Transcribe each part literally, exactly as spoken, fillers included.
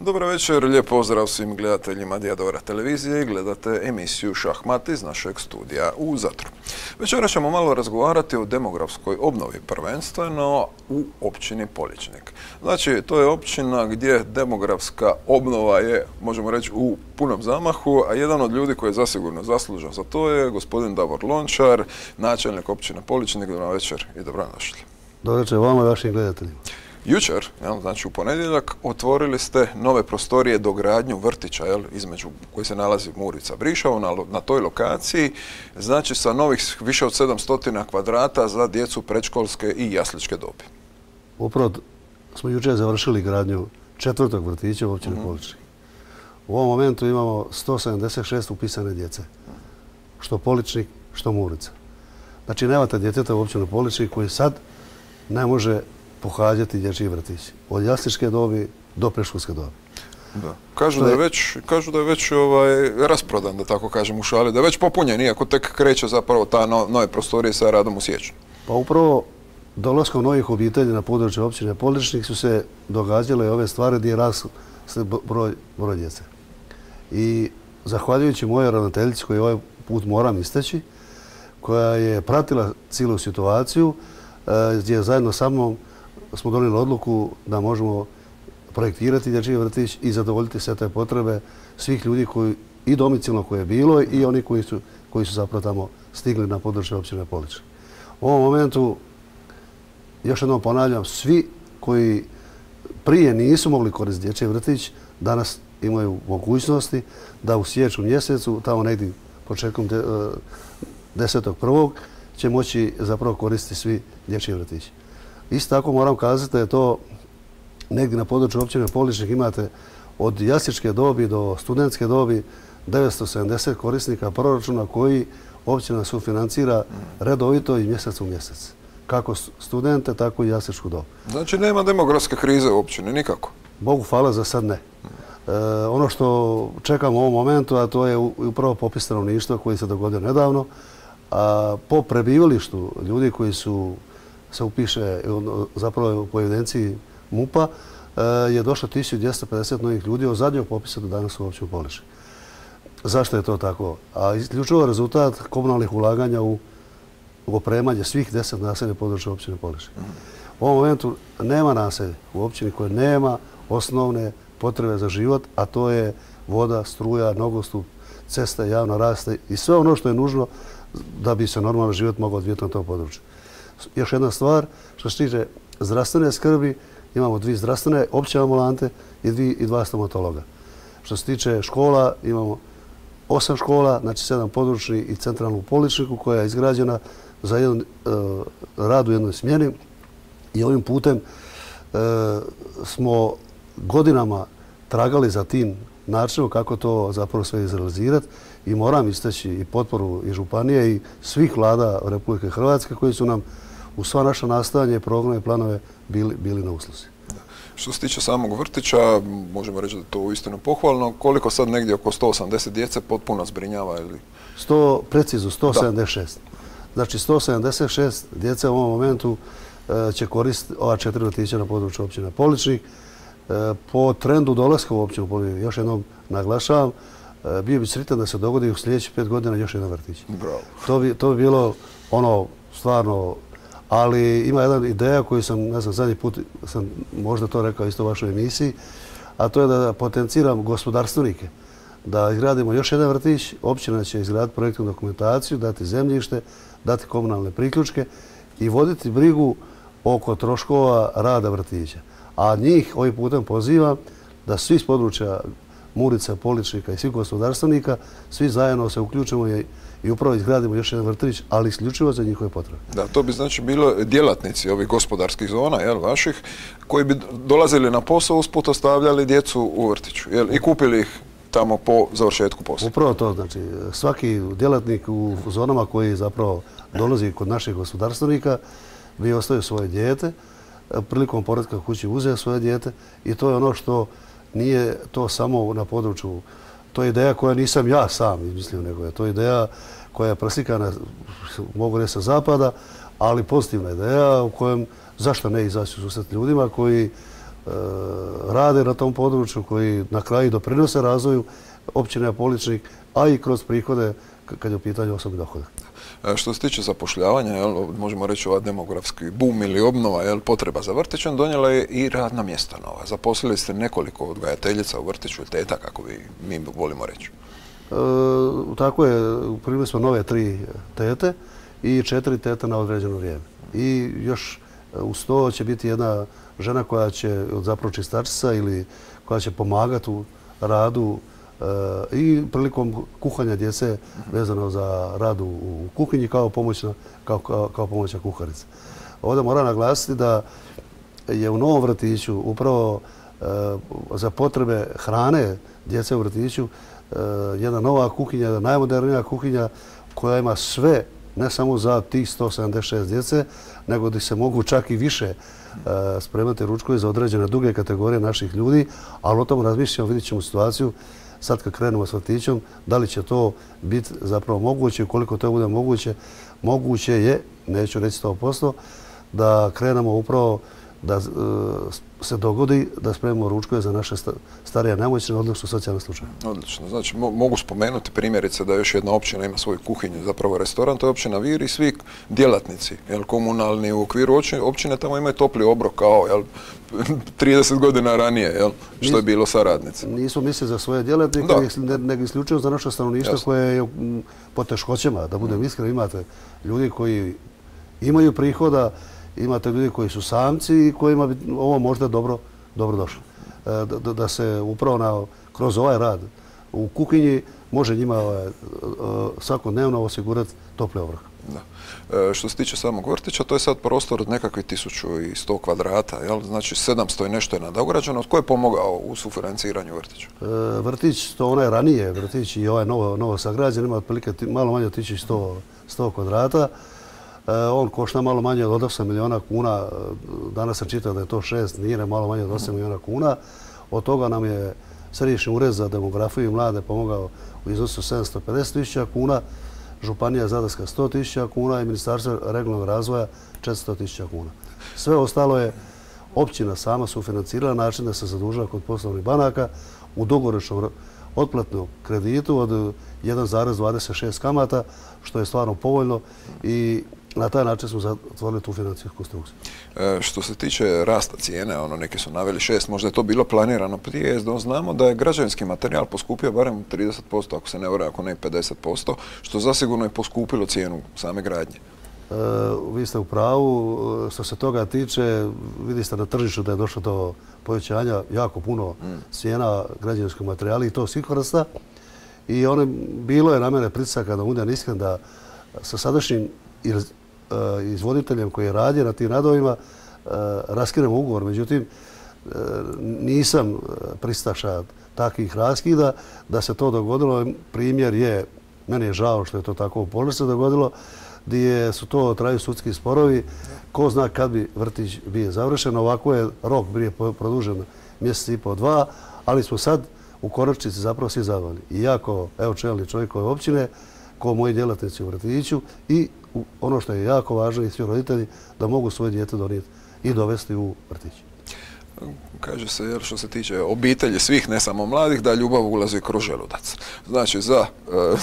Dobro večer, lijep pozdrav svim gledateljima Dijadora televizije i gledate emisiju Šahmat iz našeg studija u Zadru. Večera ćemo malo razgovarati o demografskoj obnovi, prvenstveno u općini Poličnik. Znači, to je općina gdje demografska obnova je, možemo reći, u punom zamahu, a jedan od ljudi koji je zasigurno zaslužan za to je gospodin Davor Lončar, načelnik općine Poličnik. Dobro večer i dobrodošli. Dobro večer vama i vašim gledateljima. Jučer, jel, znači u ponedjeljak, otvorili ste nove prostorije dogradnju vrtića, jel, između koji se nalazi Murica Briševo, na, na toj lokaciji, znači sa novih više od sedamsto kvadrata za djecu predškolske i jasličke dobi. Upravo smo jučer završili gradnju četvrtog vrtića u općini mm. Poličnik. U ovom momentu imamo sto sedamdeset šest upisane djece, što Poličnik, što Murica. Znači nemate djeteta u općini Poličnik koji sad ne može pohađati dječji vrtić. Od jasličke dobi do predškolske dobi. Da. Kažu, da je već, kažu da je već ovaj, rasprodan, da tako kažem u šali, da je već popunjen, iako tek kreće zapravo ta no, nove prostorije sa radom u siječnju. Pa upravo dolaskom novih obitelji na području općine Poličnik su se događale ove stvari gdje je rast broj, broj djece. I zahvaljujući mojoj ravnateljici, koju ovaj put moram isteći, koja je pratila cijelu situaciju, gdje zajedno sa mnom smo donijeli odluku da možemo projektirati dječji vrtić i zadovoljiti sve te potrebe svih ljudi koji, i domicilno koje je bilo i oni koji su, koji su zapravo tamo stigli na područje općine Poličnik. U ovom momentu, još jednom ponavljam, svi koji prije nisu mogli koristiti dječji vrtić, danas imaju mogućnosti da u siječnju mjesecu, tamo negdje početkom de, desetog prvog će moći zapravo koristiti svi dječji vrtići. Isto tako moram kazati da je to negdje na području općine Poličnik imate od jasličke dobi do studentske dobi devetsto sedamdeset korisnika proračuna koji općina sufinancira redovito iz mjeseca u mjesec. Kako studente, tako i jasličku dobu. Znači nema demografske krize u općini, nikako? Bogu hvala, za sad ne. E, ono što čekamo u ovom momentu, a to je upravo popis stanovništva koji se dogodio nedavno, a po prebivalištu ljudi koji su se upiše zapravo po evidenciji MUP-a je došlo tisuću dvjesto pedeset novih ljudi od zadnjeg popisa do danas u općini Poličnik. Zašto je to tako? A isključivo rezultat komunalnih ulaganja u opremanje svih deset naselja područja općine Poličnik. U ovom momentu nema naselja u općini koje nema osnovne potrebe za život, a to je voda, struja, nogostup, ceste, javna rasvjeta i sve ono što je nužno da bi se normalno život mogao odvijeti na tom području. Još jedna stvar, što se tiče zdravstvene skrbi, imamo dvije zdravstvene opće ambulante i, dvije, i dva stomatologa. Što se tiče škola, imamo osam škola, znači sedam područni i centralnu u Poličniku koja je izgrađena za jedan uh, rad u jednoj smjeni i ovim putem uh, smo godinama tragali za tim načinom kako to zapravo sve izrealizirati i moram istaći i potporu i županije i svih vlada Republike Hrvatske koji su nam u sva naša nastojanja, programe i planove bili, bili na usluzi. Što se tiče samog vrtića, možemo reći da je to uistinu pohvalno. Koliko sad negdje oko sto osamdeset djece potpuno zbrinjava? Ili? sto, precizno sto sedamdeset šest. Da. Znači sto sedamdeset šest djece u ovom momentu e, će koristiti ova četiri vrtića na području općine Poličnik. E, po trendu dolaska u općinu Poličnik, još jednom naglašavam, e, bio bi sretan da se dogodi u sljedećih pet godina još jedan vrtić. Bravo. To bi, to bi bilo ono stvarno. Ali ima jedna ideja koju sam, ne znam, zadnji put sam možda to rekao isto u vašoj emisiji, a to je da potenciram gospodarstvenike, da izgradimo još jedan vrtić, općina će izgraditi projektnu dokumentaciju, dati zemljište, dati komunalne priključke i voditi brigu oko troškova rada vrtića. A njih ovim putem pozivam da svi s područja Murica, Poličnika i svih gospodarstvenika, svi zajedno se uključimo i i upravo izgradimo još jedan vrtić, ali isključivo za njihove potrebe. Da, to bi znači bilo djelatnici ovih gospodarskih zona, jel, vaših, koji bi dolazili na posao, usput ostavljali djecu u vrtiću, jel, i kupili ih tamo po završetku posla. Upravo to, znači, svaki djelatnik u zonama koji zapravo dolazi kod naših gospodarstvenika bi ostavio svoje dijete, prilikom povratka kući uzeo svoje dijete i to je ono što nije to samo na području. To je ideja koja nisam ja sam izmislio, nego je to ideja koja je preslikana, mogu reći, sa zapada, ali pozitivna ideja u kojem zašto ne izaći u susret ljudima koji rade na tom području, koji na kraju doprinose razvoju općine Poličnik, a i kroz prihode kad je u pitanju osobni dohodak. Što se tiče zapošljavanja, jel, možemo reći ova demografski bum ili obnova, jel, potreba za vrtićem, donijela je i radna mjesta nova. Zaposlili ste nekoliko odgajateljica u vrtiću, teta, kako bi mi volimo reći. E, tako je, primili smo nove tri tete i četiri tete na određeno vrijeme. I još uz to će biti jedna žena koja će zapravo čistačica ili koja će pomagati u radu i prilikom kuhanja djece vezano za rad u kuhinji kao pomoćna, kao, kao, kao pomoćna kuharica. Ovdje moram naglasiti da je u novom vrtiću upravo e, za potrebe hrane djece u vrtiću e, jedna nova kuhinja, jedna najmodernija kuhinja koja ima sve, ne samo za tih sto sedamdeset šest djece, nego da se mogu čak i više e, spremati ručkovi za određene druge kategorije naših ljudi, ali o tom razmišljamo, vidjet ćemo situaciju sad kad krenemo s vrtićom, da li će to biti zapravo moguće, ukoliko to bude moguće, moguće je, neću reći sto posto, da krenemo upravo da se dogodi da spremimo ručkove za naše starije nemoćne, odnosno socijalne slučaje. Odlično. Znači, mogu spomenuti primjerice da još jedna općina ima svoju kuhinju, zapravo restoran, to je općina Vir i svi djelatnici, jel, komunalni u okviru općine tamo imaju topli obrok kao, jel, trideset godina ranije, jel, što je bilo sa radnicima. Nismo mislili za svoje djelatnike, nego isključivo za naše stanovništvo koje je po teškoćama, da budem iskren, imate ljudi koji imaju prihoda, imate ljudi koji su samci i kojima bi ovo možda dobro, dobro došlo. Da, da, da se upravo na, kroz ovaj rad u kuhinji može njima ovaj, svakodnevno osigurati topli obrok. Da. E, što se tiče samog vrtića, to je sad prostor od nekakvih tisuću sto kvadrata, jel? Znači sedamsto i nešto je nadograđeno. Tko je pomogao u sufinanciranju vrtića? E, vrtić, to onaj ranije vrtić i ovaj novo, novo sagrađen, ima otprilike malo manje od tisuću sto kvadrata. On košta malo manje od osam miliona kuna, danas sam čitao da je to šest, nije malo manje od osam miliona kuna. Od toga nam je Središnji ured za demografiju i mlade pomogao u iznosu sedamsto pedeset tisuća kuna, Županija Zadarska sto tisuća kuna i Ministarstvo regionalnog razvoja četiristo tisuća kuna. Sve ostalo je općina sama sufinancirala na način da se zadužila kod poslovnih banaka u dugoročnom otplatnom kreditu od jedan zarez dvadeset šest kamata, što je stvarno povoljno i na taj način smo zatvorili tu financijsku konstrukciju. E, što se tiče rasta cijene, ono, neki su naveli šest, možda je to bilo planirano prije, znamo da je građevinski materijal poskupio barem trideset posto, ako se ne varam, ako ne pedeset posto, što zasigurno je poskupilo cijenu same gradnje. E, vi ste u pravu. Što se toga tiče, vidi ste na tržištu da je došlo do povećanja jako puno mm. cijena građevinskog materijala i to svih vrsta. I ono, bilo je na mene pritisaka da budem iskren da sa sadašnjim izvoditeljem koji je radio na tim radovima raskidamo ugovor. Međutim, nisam pristaša takvih raskida. Da se to dogodilo, primjer je, meni je žao što je to tako u Poličniku dogodilo, gdje su to traju sudski sporovi. Ko zna kad bi vrtić bio završen. Ovako je rok bio produžen mjesec i po dva, ali smo sad u konačnici zapravo svi zadovoljni. I ja kao evo čelni čovjek ove općine, kao moji djelatnici u vrtiću i ono što je jako važno i svi roditelji da mogu svoje dijete donijeti i dovesti u vrtić. Kaže se, jer što se tiče obitelji svih, ne samo mladih, da ljubav ulazi kroz želudac. Znači, za,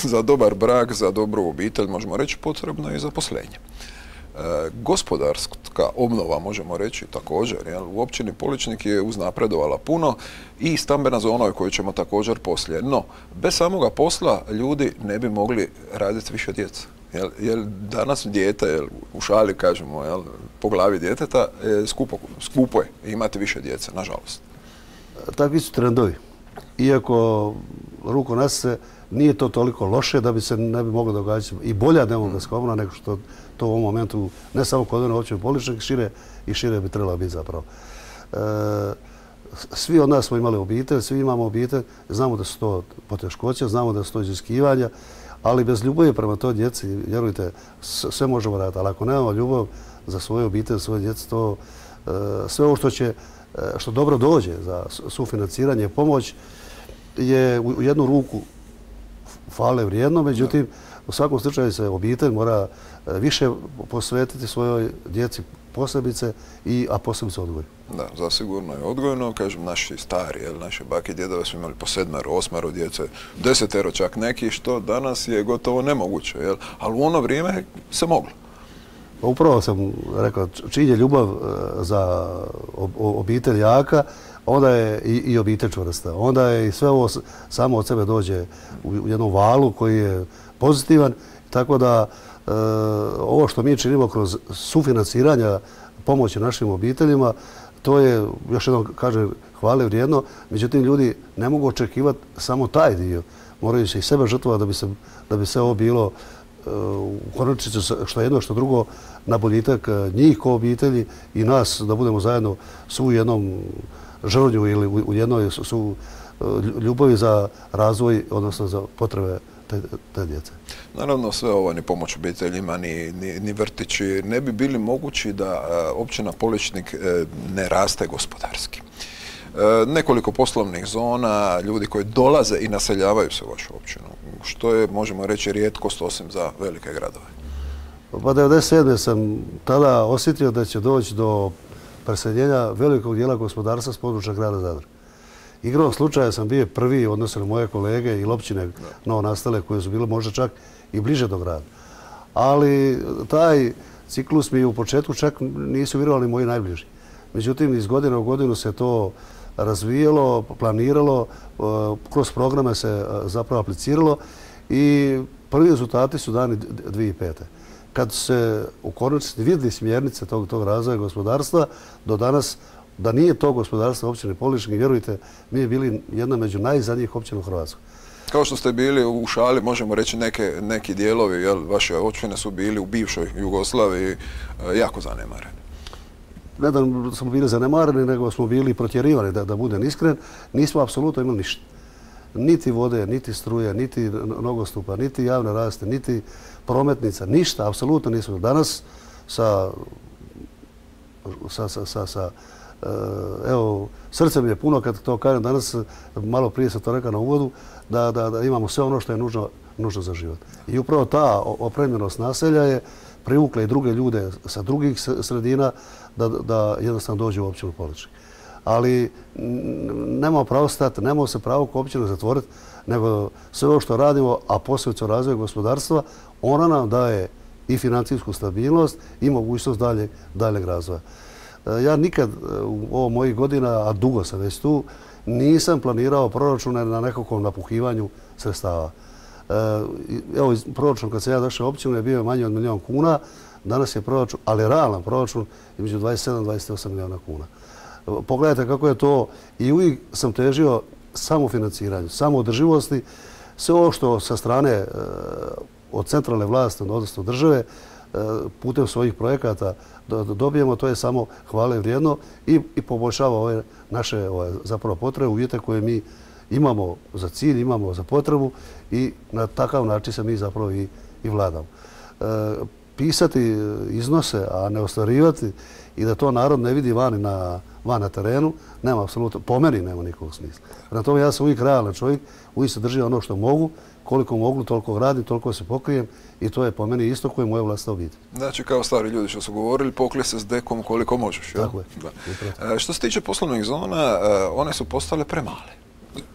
za dobar brak, za dobru obitelj, možemo reći, potrebno je i zaposlenje. E, gospodarska obnova, možemo reći, također, jel, u općini Poličnik je uznapredovala puno i stambena zona o kojoj ćemo također poslije. No, bez samoga posla ljudi ne bi mogli raditi više djeca. Jel, jel danas dijete, jel, u šali kažemo, jel, po glavi djeteta, je skupo, skupo je imati više djece, nažalost. Takvi su trendovi. Iako ruku na se, nije to toliko loše da bi se ne bi moglo događati i bolja demografska obnova nego što to u ovom momentu, ne samo kod one općine Poličnik, šire i šire bi trebala biti zapravo. E, svi od nas smo imali obitelj, svi imamo obitelj, znamo da su to poteškoće, znamo da su to iziskivanja, ali bez ljubavi prema toj djeci, vjerujte, sve možemo raditi. Ali ako nemamo ljubav za svoju obitelj, svoje djece, to sve ovo što će, što dobro dođe za sufinanciranje i pomoć je u jednu ruku hvale vrijedno, međutim, u svakom slučaju se obitelj mora više posvetiti svojoj djeci posebice, i, a posebice odgoju. Da, zasigurno je odgojno. Kažem, naši stari, jel, naše bake i djedove su imali po sedmero, osmero djece, desetero čak neki, što danas je gotovo nemoguće, jel? Ali u ono vrijeme se moglo. Upravo sam rekao, čim je ljubav za obitelj jaka, onda je i, i obitelj čvrsta. Onda je i sve ovo samo od sebe dođe u jednom valu koji je pozitivan. Tako da e, ovo što mi činimo kroz sufinanciranja pomoći našim obiteljima, to je, još jednom kažem, hvale vrijedno. Međutim, ljudi ne mogu očekivati samo taj dio. Moraju se i sebe žrtvovati da bi se, da bi se ovo bilo u konačnici što jedno što drugo na boljitak njih kao obitelji i nas, da budemo zajedno su u jednom žrvnju ili u jednoj su ljubavi za razvoj, odnosno za potrebe te, te djece. Naravno, sve ovo ni pomoć obiteljima, ni, ni, ni vrtići ne bi bili mogući da općina Poličnik ne raste gospodarski. Nekoliko poslovnih zona, ljudi koji dolaze i naseljavaju se u vašu općinu, što je, možemo reći, rijetkost osim za velike gradove. Pa devedeset sedme sam tada osjetio da će doći do preseljenja velikog dijela gospodarstva s područja grada Zadra. Igrom slučaja sam bio prvi, odnosno moje kolege i općine novonastale koje su bile možda čak i bliže do grada. Ali taj ciklus mi u početku čak nisu vjerovali moji najbliži. Međutim, iz godine u godinu se to razvijalo, planiralo, kroz programe se zapravo apliciralo i prvi rezultati su dani dvije tisuće pete. Kad se u konačnici vidjeli smjernice tog, tog razvoja gospodarstva, do danas, da nije to gospodarstvo općine Poličnik, vjerujte, mi je bili jedna među najzadnjih općina u Hrvatskoj. Kao što ste bili u šali, možemo reći neke, neki dijelovi, jel, vaše općine su bili u bivšoj Jugoslaviji jako zanemareni. Ne da smo bili zanemareni, nego smo bili protjerivani, da, da budem iskren. Nismo apsolutno imali ništa. Niti vode, niti struje, niti nogostupa, niti javne rasvjete, niti prometnica, ništa, apsolutno nismo. Danas sa, sa, sa, sa, sa evo, srce mi je puno kad to kažem, danas, malo prije sam to rekao na uvodu, da, da, da imamo sve ono što je nužno, nužno za život. I upravo ta opremljenost naselja je privukla i druge ljude sa drugih sredina da, da jednostavno dođu u općinu Poličnik. Ali nemamo pravo stati, nemamo se pravo kao općinu zatvoriti, nego sve ovo što radimo, a posebice o razvoju gospodarstva, ona nam daje i financijsku stabilnost i mogućnost daljeg, daljeg razvoja. Ja nikad u ovo mojih godina, a dugo sam već tu, nisam planirao proračune na nekakvom napuhivanju sredstava. Evo, proračun kad sam ja došao u općinu je bio manje od milijon kuna, danas je proračun, ali realan proračun, između dvadeset sedam do dvadeset osam milijuna kuna. Pogledajte kako je to, i uvijek sam težio samofinanciranju, samoodrživosti, sve ovo što sa strane od centralne vlasti, odnosno države, putem svojih projekata dobijemo, to je samo hvale vrijedno i, i poboljšava ove naše ove, zapravo potrebe, uvjete koje mi imamo za cilj, imamo za potrebu i na takav način se mi zapravo i, i vladamo. E, pisati iznose, a ne ostvarivati i da to narod ne vidi vani na, van na terenu, nema apsolutno, po meni nema nikakvog smisla. Na tome ja sam uvijek realan čovjek, uvijek se držim ono što mogu, koliko mogu, toliko radim, toliko se pokrijem i to je po meni isto koje je moja vlastna obitelj. Znači, kao stari ljudi što su govorili, poklij se s dekom koliko možeš. Jel? Tako je. Da. E, što se tiče poslovnih zona, one su postale premale.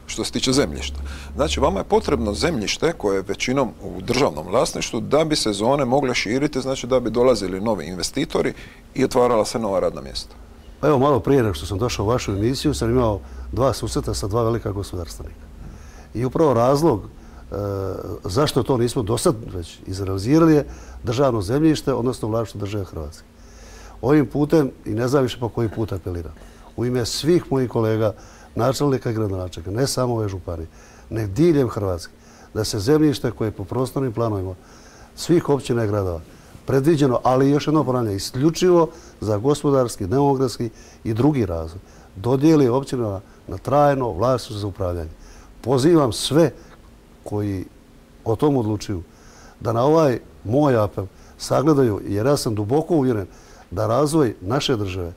Što se tiče zemljišta. Znači, vama je potrebno zemljište koje je većinom u državnom vlasništvu da bi se zone mogle širiti, znači da bi dolazili novi investitori i otvarala se nova radna mjesta. Pa evo, malo prije nego što sam došao u vašu emisiju, sam imao dva susreta sa dva velika gospodarstvenika. I upravo razlog e, zašto to nismo do sad već izrealizirali je državno zemljište, odnosno vlasništvo države Hrvatske. Ovim putem, i ne znam više po koji put apeliram, u ime svih mojih kolega, načelnika i gradonačelnika, ne samo ove županije, nek diljem Hrvatske, da se zemljište koje je po prostornim planovima svih općina i gradova predviđeno, ali još jedno ponavljanje, isključivo za gospodarski, demografski i drugi razvoj, dodijeli općinama na trajno vlasništvo za upravljanje. Pozivam sve koji o tom odlučuju da na ovaj moj apel sagledaju, jer ja sam duboko uvjeren da razvoj naše države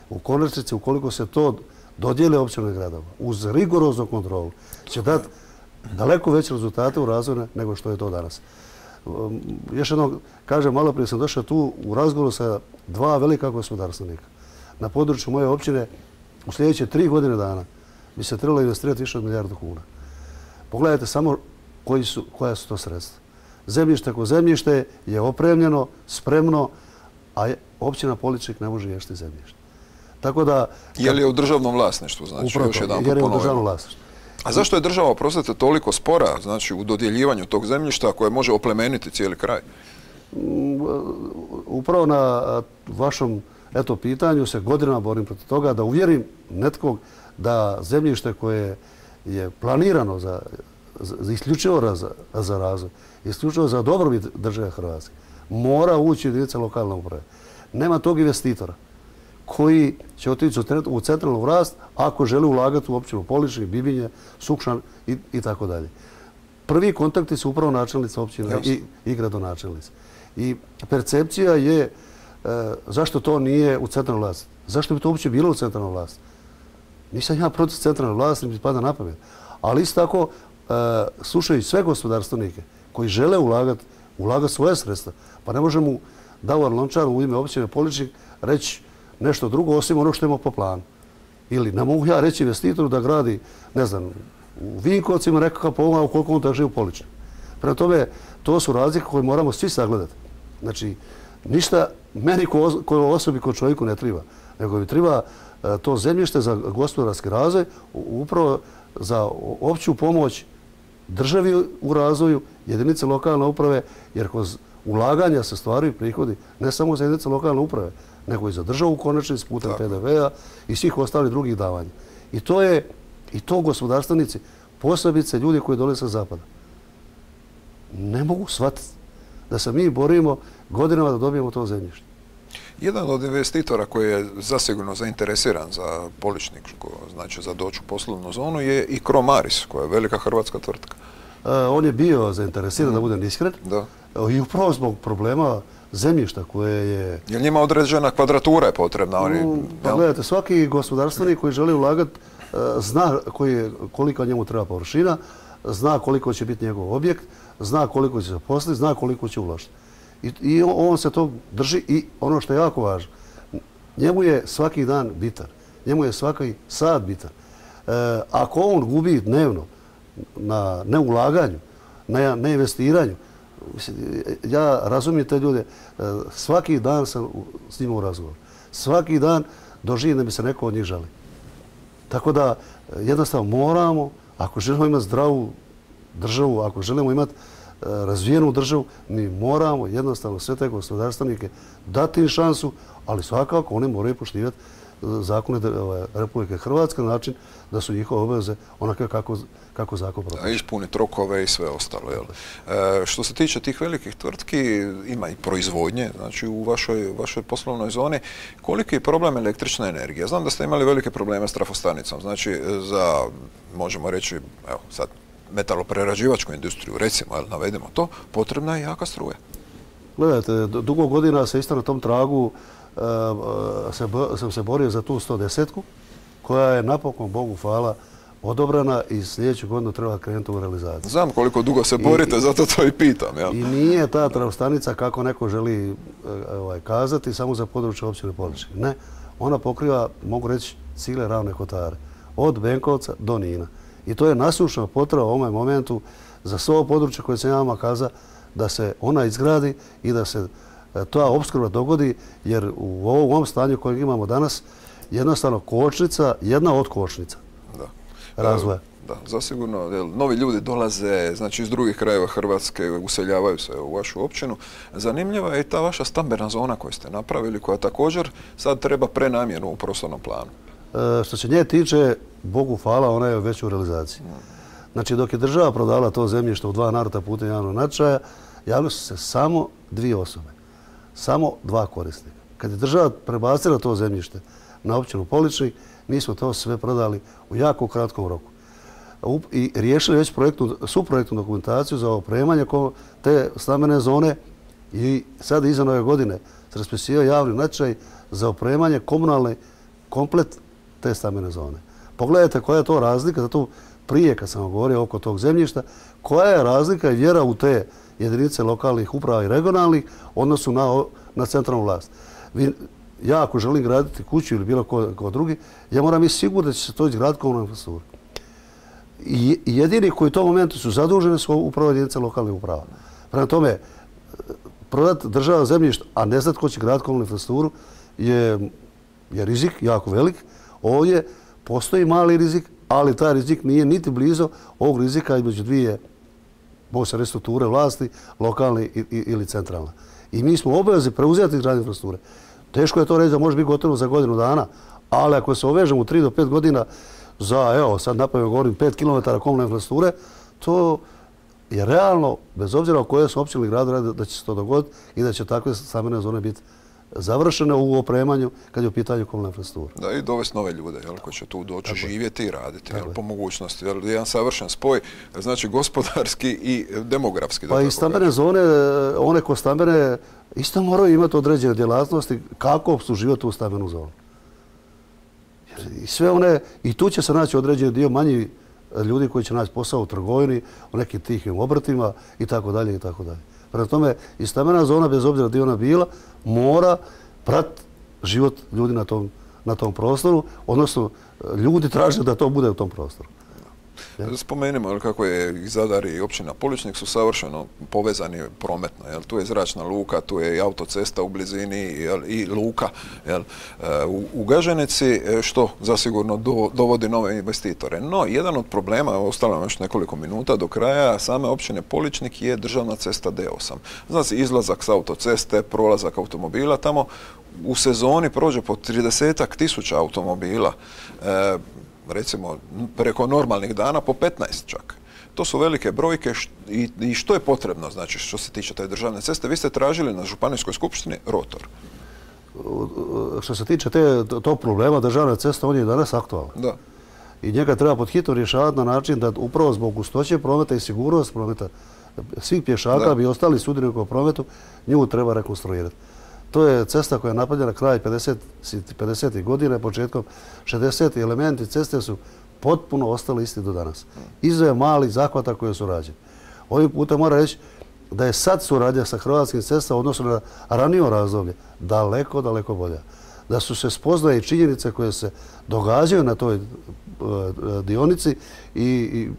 u konačnici, ukoliko se to dodijele općine gradova uz rigoroznu kontrolu, će dati daleko veće rezultate u razvoju nego što je to danas. Još jednom kažem, malo prije sam došao tu u razgovoru sa dva velika gospodarstvenika. Na području moje općine u sljedeće tri godine dana bi se trebalo investirati više od milijardu kuna. Pogledajte samo koji su, koja su to sredstva. Zemljište ko zemljište je opremljeno, spremno, a općina Poličnik ne može ješti zemljište. Tako da... Je li je u državnom vlasništvu, znači, upravo još jedan jer je u ponovimo. državnom vlasništvu. A zašto je država, oprostite, toliko spora, znači, u dodjeljivanju tog zemljišta koje može oplemeniti cijeli kraj? Upravo na vašom eto, pitanju se godinama borim protiv toga da uvjerim netkog da zemljište koje je planirano za, za isključivo za, za razvoj, isključivo za dobrobit države Hrvatske, mora ući u jedinice lokalne uprave. Nema tog investitora koji će otići u centralnu vlast ako želi ulagati u općinu Poličnik, Bibinje, Sukšan i, i tako dalje. Prvi kontakti su upravo načelnica općine i, i gradonačelnice. I percepcija je e, zašto to nije u centralnoj vlasti. Zašto bi to uopće bilo u centralnoj vlasti? Nisam ja protiv centralne vlasti, mi pada na pamet. Ali isto tako, e, slušaju sve gospodarstvenike koji žele ulagati, ulagati svoje sredstva. Pa ne možemo Davor Lončar u ime općine Poličnik reći nešto drugo osim ono što ima po planu. Ili ne mogu ja reći investitoru da gradi, ne znam, u Vinkovcima nekakav pogleda ukoliko on da živi u Poličniku. Prema tome, to su razlike koje moramo svi sagledati. Znači, ništa meni kao osobi, kao čovjeku ne treba, nego mi treba to zemljište za gospodarski razvoj, upravo za opću pomoć državi u razvoju, jedinice lokalne uprave, jer kroz ulaganja se stvaraju prihodi ne samo za jedinice lokalne uprave, nego i za državu konačnici putem P D V-a i svih ostalih drugih davanja. I to je, i to gospodarstvenici, posebice ljudi koji dolaze sa zapada, ne mogu shvatiti da se mi borimo godinama da dobijemo to zemljište. Jedan od investitora koji je zasigurno zainteresiran za Poličnik, znači za doći u poslovnu zonu, je i Cromaris, koja je velika hrvatska tvrtka. E, on je bio zainteresiran, mm. da budem iskren, da. I upravo zbog problema zemljišta koje je... Je li njima određena kvadratura je potrebna? Oni, mm, pa gledajte, svaki gospodarstvenik koji želi ulagati zna koji, koliko njemu treba površina, zna koliko će biti njegov objekt, zna koliko će se posliti, zna koliko će uložiti. I, I on se to drži i ono što je jako važno, njemu je svaki dan bitan, njemu je svaki sat bitan. E, ako on gubi dnevno na neulaganju, na neinvestiranju, ja razumijem te ljude, svaki dan sam s njima u razgovoru. Svaki dan doživim da mi se neko od njih žali. Tako da jednostavno moramo, ako želimo imati zdravu državu, ako želimo imati razvijenu državu, mi moramo jednostavno sve te gospodarstvenike dati im šansu, ali svakako oni moraju poštivati zakone Republike Hrvatske na način da su njihove obaveze onake kako, kako zakon propiše. Ispuniti rokove i sve ostalo. Jel? E, što se tiče tih velikih tvrtki, ima i proizvodnje, znači u vašoj, vašoj poslovnoj zoni. Koliki je problem električne energije? Znam da ste imali velike probleme s trafostanicom. Znači, za, možemo reći, evo sad, metaloprerađivačku industriju, recimo, jel, navedemo to, potrebna je jaka struja. Gledajte, dugo godina se isto na tom tragu uh, se, sam se borio za tu sto desetku, koja je napokon, Bogu hvala, odobrana i sljedeću godinu treba krenuti u realizaciju. Znam koliko dugo se borite, I, zato to i pitam. Jel? I nije ta trafostanica, kako neko želi ovaj, kazati, samo za područje općine Poličnik. Ne, ona pokriva, mogu reći, cijele Ravne Kotare, od Benkovca do Nina. I to je nasušna potreba u ovom momentu za sve ovo područje koje sam ja vama kazao da se ona izgradi i da se ta opskrba dogodi, jer u ovom stanju kojeg imamo danas jednostavno kočnica, jedna od kočnica da. razvoja. Da, zasigurno. Novi ljudi dolaze, znači iz drugih krajeva Hrvatske, useljavaju se u vašu općinu. Zanimljiva je i ta vaša stambena zona koju ste napravili, koja također sad treba prenamjenu u prostornom planu. E, što se nje tiče, Bogu hvala, ona je već u realizaciji. Znači, dok je država prodala to zemljište u dva navrata putem javnog natječaja, javili su se samo dvije osobe, samo dva korisnika. Kad je država prebacila to zemljište na općinu Poličnik, mi smo to sve prodali u jako kratkom roku. I riješili već projektnu, suprojektnu dokumentaciju za opremanje te stambene zone i sad iza nove godine se raspisivao javni natječaj za opremanje komunalne komplet te stambene zone. Pogledajte koja je to razlika, zato prije kad sam govorio oko tog zemljišta, koja je razlika i vjera u te jedinice lokalnih uprava i regionalnih odnosu na, na centralnu vlast. Vi, ja ako želim graditi kuću ili bilo ko, ko drugi, ja moram biti sigurno da će se to izgraditi komunalna infrastruktura. I jedini koji u tom momentu su zaduženi su upravo jedinice lokalnih uprava. Prema tome, prodati država zemljište, a ne znati ko će graditi komunalnu infrastrukturu, je, je rizik jako velik. Ovdje postoji mali rizik, ali taj rizik nije niti blizu ovog rizika između dvije strukture vlasti, lokalne ili centralne. I mi smo obavezni preuzeti izgradnju infrastrukture. Teško je to reći da može biti gotovo za godinu dana, ali ako se ovežemo u tri do pet godina za, evo, sad napravimo govorim, pet kilometara komunalne infrastrukture, to je realno, bez obzira o koje su općine ili gradu, da će se to dogoditi i da će takve stambene zone biti završene u opremanju kad je u pitanju komunalne infrastrukture. Da, i dovesti nove ljude jel, koji će tu doći živjeti i raditi jel, po mogućnosti. Jel, jedan savršen spoj, znači gospodarski i demografski. Pa i stambene zone, one ko stambene, isto moraju imati određene djelatnosti kako su životi u stambenu zonu. I sve one, i tu će se naći određeni dio manji ljudi koji će naći posao u trgovini, u nekim tihim obrtima i tako dalje i tako dalje. Prema tome, i stambena zona, bez obzira gdje ona bila, mora pratiti život ljudi na tom, na tom prostoru, odnosno ljudi traže da to bude u tom prostoru. Spomenimo kako je i Zadar i općina Poličnik su savršeno povezani prometno. Jel? Tu je zračna luka, tu je i autocesta u blizini jel? I luka jel? U, u Gaženici, što zasigurno do, dovodi nove investitore. No, jedan od problema, ostalo nam još nekoliko minuta do kraja, same općine Poličnik je državna cesta D osam. Znači, izlazak s autoceste, prolazak automobila, tamo u sezoni prođe po tridesetak tisuća automobila. E, recimo preko normalnih dana po petnaest čak. To su velike brojke i, i što je potrebno, znači što se tiče te državne ceste. Vi ste tražili na Županijskoj skupštini rotor. Što se tiče te, tog problema državne ceste, on je danas aktualan. Da. I njega treba pod hitno rješavati na način da upravo zbog gustoće prometa i sigurnost prometa svih pješaka da. Bi ostali sudionika u prometu, nju treba rekonstruirati. To je cesta koja je napravljena kraj pedesetih godina, početkom šezdesetih. Elementi ceste su potpuno ostali isti do danas. Izuzev malih zahvata koje su rađeni. Ovim putem mora reći da je sad suradnja sa Hrvatskim cestama odnosno na ranije razdoblje daleko, daleko bolja. Da su se spoznaje i činjenice koje se događaju na toj dionici i, i,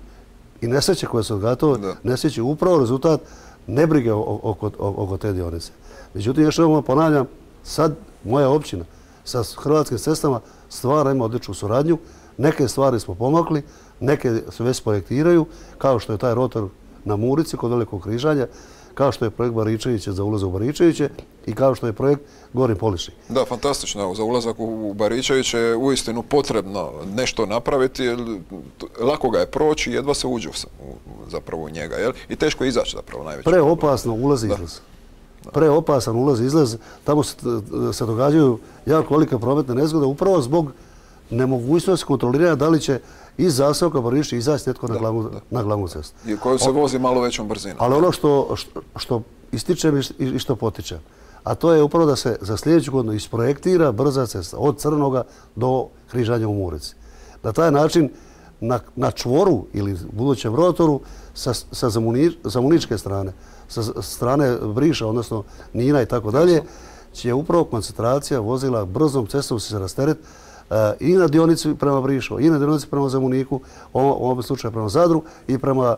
i nesreće koje se događaju, nesreće upravo rezultat nebrige oko, oko te dionice. Međutim, još jednom ponavljam, sad moja općina sa Hrvatskim cestama stvara ima odličnu suradnju. Neke stvari smo pomakli, neke se već projektiraju, kao što je taj rotor na Murici kod Velikog križanja, kao što je projekt Baričeviće za ulazak u Baričeviće i kao što je projekt Gornji Poličnik. Da, fantastično. Za ulazak u Baričeviće je uistinu potrebno nešto napraviti, jer lako ga je proći, jedva se uđe zapravo u njega, jel? I teško je izaći zapravo najveći. Preopasno ulaz i izlaz. Preopasan ulaz i izlaz. Tamo se, se događaju jako velike prometne nezgode upravo zbog nemogućnosti kontroliranja da li će iz zaseoka Baričevića izaći netko na glavnu, na glavnu cestu. I koju se vozi malo većom brzinom. Ali ono što, što, što ističem i što potičem, a to je upravo da se za sljedeću godinu isprojektira brza cesta od Crnoga do križanja u Murici. Na taj način na, na čvoru ili budućem rotoru sa, sa zamuni, zamuničke strane, sa strane Briša, odnosno Nina i tako dalje, će upravo koncentracija vozila brzom cestom se rasteret i na dionici prema Brišu, i na dionici prema Zamuniku, u ovom slučaju prema Zadru i prema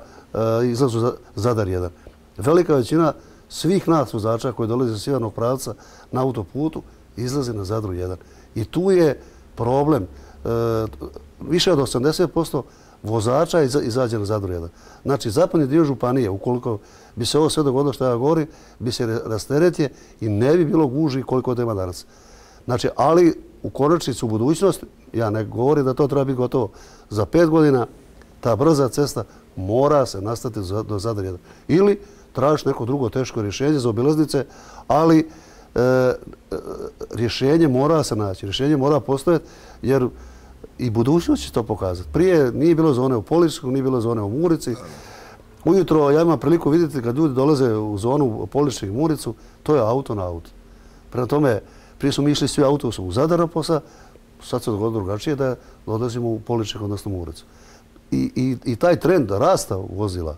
izlazu Zadar jedan. Velika većina svih nas vozača koji dolaze iz sjevernog pravca na autoputu izlaze na Zadru jedan. I tu je problem. Više od osamdeset posto vozača izađe na Zadru jedan. Znači, zapadni dio županije, ukoliko bi se ovo sve dogodilo što ja govorim, bi se rasteretio i ne bi bilo gužvi koliko ima danas. Znači, ali u konačnici u budućnosti, ja ne govorim da to treba biti gotovo, za pet godina ta brza cesta mora se nastaviti do Zadar jedan. Ili tražiš neko drugo teško rješenje za obilaznice, ali e, rješenje mora se naći, rješenje mora postojati, jer i budućnost će to pokazati. Prije nije bilo zone u Poličniku, nije bilo zone u Murici. Ujutro ja imam priliku vidjeti kad ljudi dolaze u zonu Poličnik i Muricu, to je auto na auto. Prema tome, prije su mi išli svi autobusom u Zadar posa, sad se dogodilo drugačije da odlazimo u Poličnik, odnosno Muricu. I, i, I taj trend rasta vozila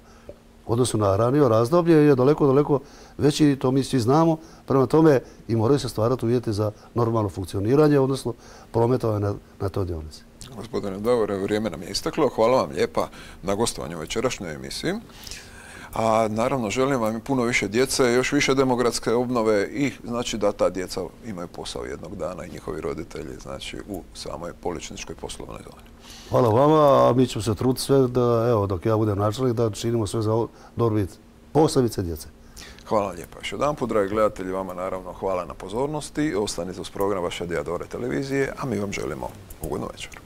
u odnosu na ranije razdoblje je daleko, daleko veći, to mi svi znamo. Prema tome i moraju se stvarati uvjeti za normalno funkcioniranje, odnosno prometovanje na, na toj dionici. Gospodine Davore, vrijeme nam je isteklo. Hvala vam lijepa na gostovanju u večerašnjoj emisiji. A naravno želim vam i puno više djece, još više demografske obnove i znači da ta djeca imaju posao jednog dana i njihovi roditelji znači u samoj poličničkoj poslovnoj zoni. Hvala vama, a mi ćemo se truditi sve da, evo, dok ja budem načelnik, da činimo sve za dobrobit posebice djece. Hvala vam lijepa. Još jedan put, dragi gledatelji, vama naravno hvala na pozornosti. Ostanite uz program vaše Diadore televizije, a mi vam želimo ugodnu večer.